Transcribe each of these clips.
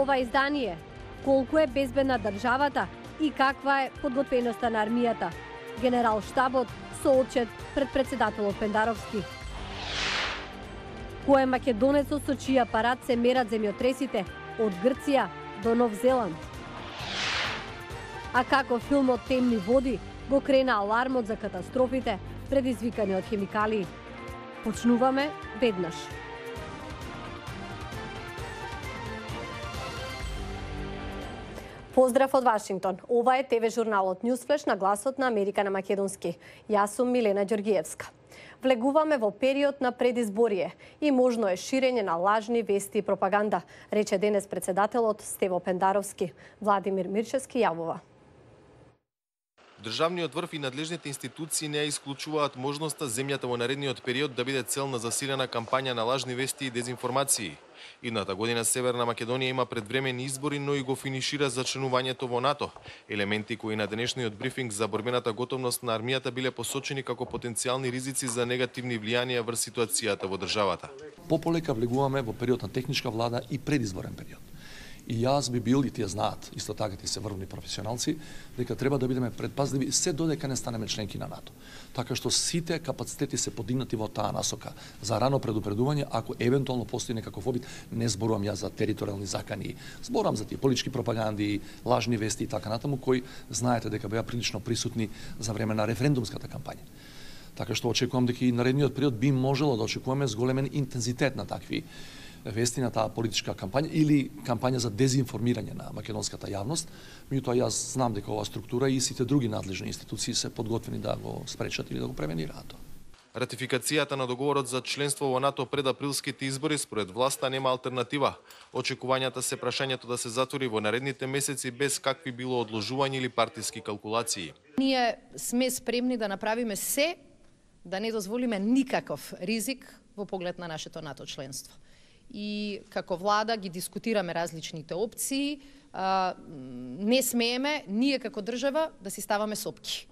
ова издание, колку е безбедна државата и каква е подготвеноста на армијата. Генерал штабот со отчет пред председателот Пендаровски. Кој е македонецот со чија апарат се мерат земјотресите од Грција до Нов Зеланд? А како филмот Темни води го крена алармот за катастрофите предизвикани од хемикалии? Почнуваме веднаш. Поздрав од Вашингтон. Ова е ТВ журналот Ньюсфлеш на гласот на Америка на македонски. Јас сум Милена Ѓоргиевска. Влегуваме во период на предизборие и можно е ширење на лажни вести и пропаганда, рече денес председателот Стево Пендаровски. Владимир Мирчевски јавува. Државниот врв и надлежните институции не ја исклучуваат можноста земјата во наредниот период да биде цел на засилена кампања на лажни вести и дезинформации. Идната година Северна Македонија има предвремени избори, но и го финишира за членувањето во НАТО. Елементи кои на денешниот брифинг за борбената готовност на армијата биле посочени како потенцијални ризици за негативни влијанија врз ситуацијата во државата. Пополека влегуваме во период на техничка влада и предизборен период. И јас би бил, и тие знаат, исто така тие се врвни професионалци, дека треба да бидеме предпазливи се додека не станеме членки на НАТО. Така што сите капацитети се подигнати во таа насока за рано предупредување, ако евентуално постои некаков обид, не зборувам јас за територијални закани, зборувам за тие политички пропаганди, лажни вести и така натаму, кои знаете дека беа прилично присутни за време на референдумската кампања. Така што очекувам дека и наредниот период би можело да очекуваме зголемен интензитет на такви вести на таа политичка кампања или кампања за дезинформирање на македонската јавност. Меѓутоа јас знам дека оваа структура и сите други надлежни институции се подготвени да го спречат или да го превенираат тоа. Ратификацијата на договорот за членство во НАТО пред априлските избори според власта нема алтернатива. Очекувањата се прашањето да се затвори во наредните месеци без какви било одложување или партиски калкулации. Ние сме спремни да направиме се да не дозволиме никаков ризик во поглед на нашето НАТО членство. И како влада ги дискутираме различните опции, не смееме ние како држава да си ставаме сопки.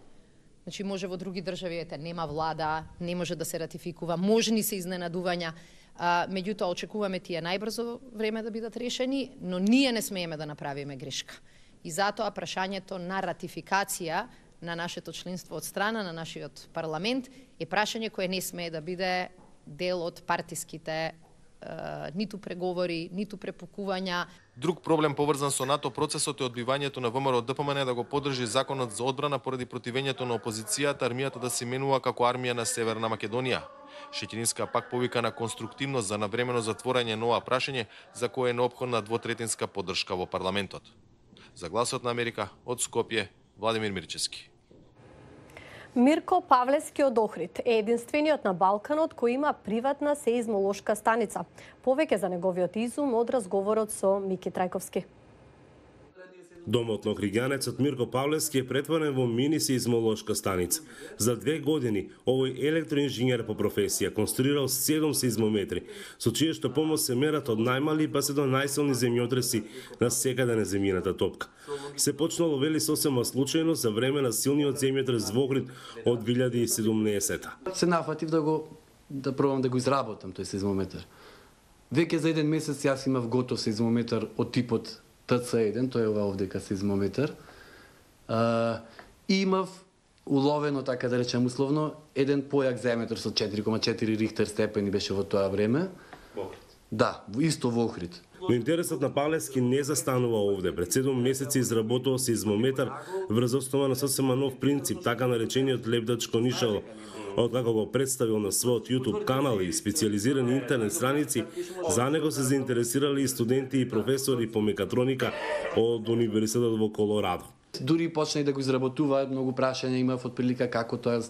Значи може во други држави нема влада, не може да се ратификува, можни се изненадувања, меѓутоа очекуваме тие најбрзо време да бидат решени, но ние не смееме да направиме грешка. И затоа прашањето на ратификација на нашето членство од страна на нашиот парламент е прашање кое не смее да биде дел од партиските ниту преговори, ниту препукувања. Друг проблем поврзан со НАТО процесот е одбивањето на ВМРО ДПМН да го поддржи законот за одбрана поради противењето на опозицијата армијата да се именува како армија на Северна Македонија. Шетининска пак повика на конструктивност за навремено затворање на ова прашање за кое е неопходна двотретинска поддршка во парламентот. За гласот на Америка од Скопје, Владимир Мирчевски. Мирко Павлевски од Охрид е единствениот на Балканот кој има приватна сеизмолошка станица. Повеќе за неговиот изум од разговорот со Мики Трајковски. Домот на охриѓанецот Мирко Павлевски е претворен во мини сеизмолошка станица. За 2 години овој електроинженер по професија конструирал 7 сеизмометри, со чие што помош се мерат од најмали па се до најсилни земјотреси на секаде на земјината топка. Се почнало вели сосема случајно за време на силниот земјотрес во Охрид од 2017. Се нафатив да пробам да го изработам тој сеизмометар. Веќе за 1 месец јас имав готов сеизмометар од типот ТЦ1, тој е ова овдека сеизмометар. И имав уловено, така да речем условно, еден појак земјотрес со 4,4 Рихтер степени беше во тоа време. Да, исто во Охрид. Но интересот на Павлевски не застанува овде. Пред 7 месеци изработува сеизмометар врз основа на сосема нов принцип, така наречениот лебдач конишало. Откако го представил на својот YouTube канал и специализирани интернет страници, за него се заинтересирали и студенти и професори по мекатроника од Универзитетот во Колорадо. Дури почна да го изработуваат, многу прашања имав од прилика како тоа.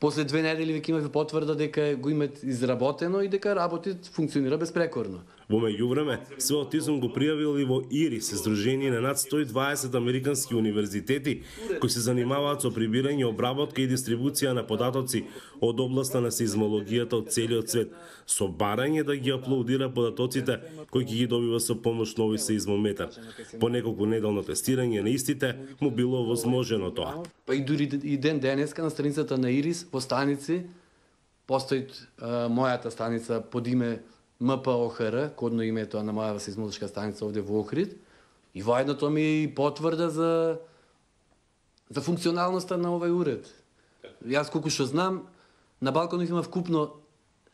После 2 недели веќе имав потврда дека го имат изработено и дека работи, функционира безпрекорно. Во меѓувреме, својот изум го пријавил и во ИРИС, здружение на над 120 американски универзитети кои се занимаваат со прибирање, обработка и дистрибуција на податоци од областа на сеизмологијата од целиот свет, со барање да ги аплодира податоците кои ги добива со помош нови сеизмометар. По неколку неделно тестирање на истите му било возможено тоа. Па и дури и ден денеска на страницата на ИРИС во станици постои мојата станица под име МПОХР, кодно име тоа на мојава сеизмолошка станица овде во Охрид, и воедно тоа ми е и потврда за функционалноста на овој уред. Јас колку што знам, на Балканов има вкупно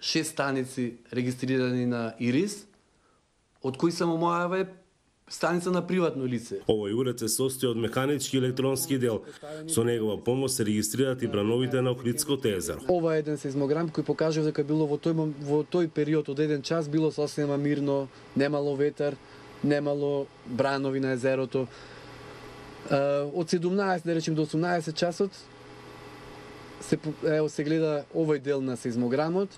6 станици регистрирани на ИРИС, од кои само мојава е станица на приватно лице. Овој уред се состои од механички и електронски дел. Со негова помош се регистрираат и брановите на Охридското езеро. Ова е еден сеизмограм кој покажува дека било во тој период од еден час било сосема мирно, немало ветар, немало бранови на езерото. Од 17, да речем, до 18 часот се гледа овој дел на сеизмограмот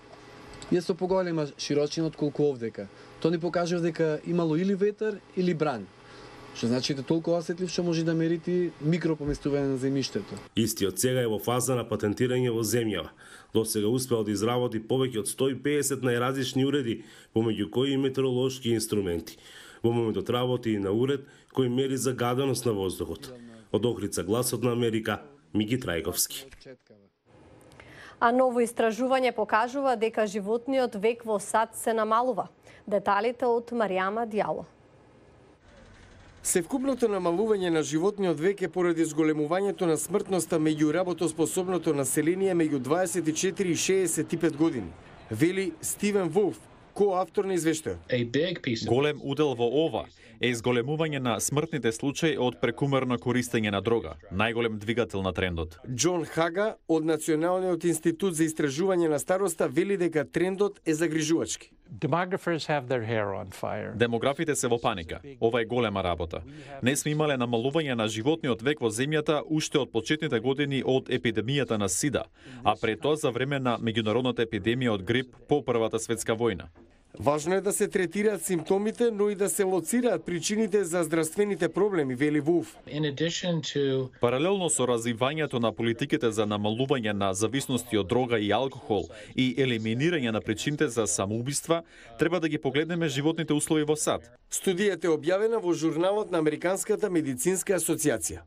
и е со поголема широчина од колку овдека. Тоа ни покажува дека имало или ветар или бран. Што значи да толку осетлив што може да мерити микропоместување на земјиштето. Истиот сега е во фаза на патентирање во земјава. До сега успеал да изработи повеќе од 150 најразлични уреди, помеѓу кои и метеоролошки инструменти. Во моментот работи и на уред кој мери загаденост на воздухот. Од Охрица, Гласот на Америка, Мики Трајковски. А ново истражување покажува дека животниот век во САД се намалува. Деталите од Маријама Дјало. Севкупното намалување на животниот век е поради зголемувањето на смртноста меѓу работоспособното население меѓу 24 и 65 години, вели Стивен Волф, коавтор на извештајот. Голем удел во ова е изголемување на смртните случаи од прекумерно користење на дрога, најголем двигател на трендот. Џон Хага од Националниот институт за истражување на староста вели дека трендот е загрижувачки. Демографите се во паника. Ова е голема работа. Не сме имале намалување на животниот век во земјата уште од почетните години од епидемијата на СИДА, а пред тоа за време на меѓународната епидемија од грип по Првата светска војна. Важно е да се третираат симптомите, но и да се лоцираат причините за здравствените проблеми, вели Вулф. Паралелно со развивањето на политиките за намалување на зависности од дрога и алкохол и елиминирање на причините за самоубиства, треба да ги погледнеме животните услови во САД. Студијата е објавена во журналот на Американската медицинска асоциација.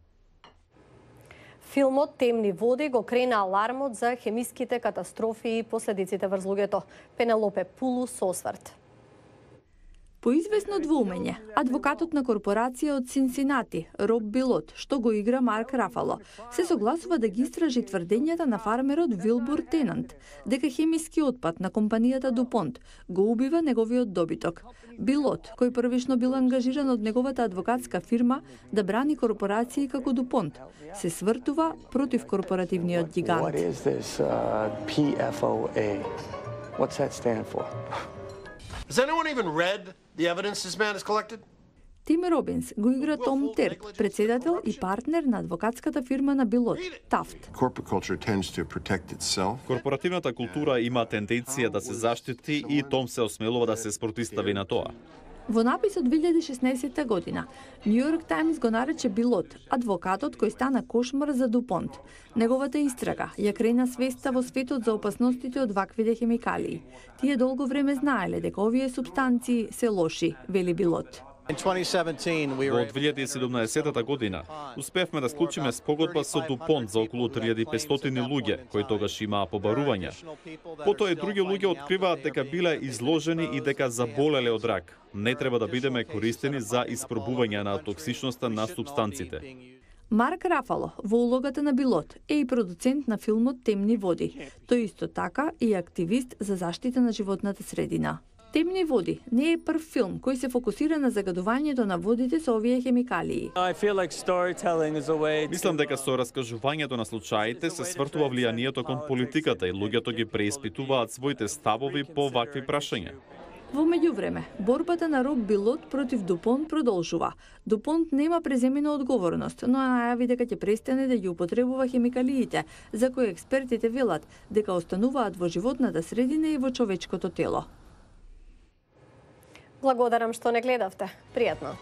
Филмот Темни води го крена алармот за хемиските катастрофи и последиците врз луѓето. Пенелопе Пулу со осврт. По известно двоумење, адвокатот на корпорација од Синсинати, Роб Билот, што го игра Марк Рафало, се согласува да ги истражи тврдењата на фармерот Вилбур Тенант, дека хемиски отпад на компанијата Дупонт го убива неговиот добиток. Билот, кој првично бил ангажиран од неговата адвокатска фирма да брани корпорации како Дупонт, се свртува против корпоративниот гигант. What is this PFOA? What's that stand for? Has anyone even read the evidence this man has collected? Тим Робинс го игра Том Терк, председател и партнер на адвокатската фирма на Билот, Тафт. Корпоративната култура има тенденција да се заштити и Том се осмелува да се спротистави на тоа. Во напис од 2016 година, Нью Йорк Таймс го нарече Билот адвокатот кој стана кошмар за Дупонт. Неговата истрага ја крена свеста во светот за опасностите од ваквите хемикалии. Тие долго време знаеле дека овие супстанции се лоши, вели Билот. Во 2017 година успевме да склучиме спогодба со Дупонт за околу 3500 луѓе, кои тогаш имаа побарувања. Потоа и други луѓе откриваат дека биле изложени и дека заболеле од рак. Не треба да бидеме користени за испробување на токсичноста на супстанците. Марк Рафало, во улогата на Билот, е и продуцент на филмот Темни води. Тој исто така и активист за заштита на животната средина. Темни води не е прв филм кој се фокусира на загадувањето на водите со овие хемикалии. Мислам дека со раскажувањето на случаите се свртува влијанието кон политиката и луѓето ги преиспитуваат своите ставови по вакви прашања. Во меѓувреме, борбата на Роб Билот против Дупонт продолжува. Дупонт нема преземена одговорност, но најави дека ќе престане да ги употребува хемикалиите, за кои експертите велат дека остануваат во животната средина и во човечкото тело. Благодарам што не гледавте. Пријатно.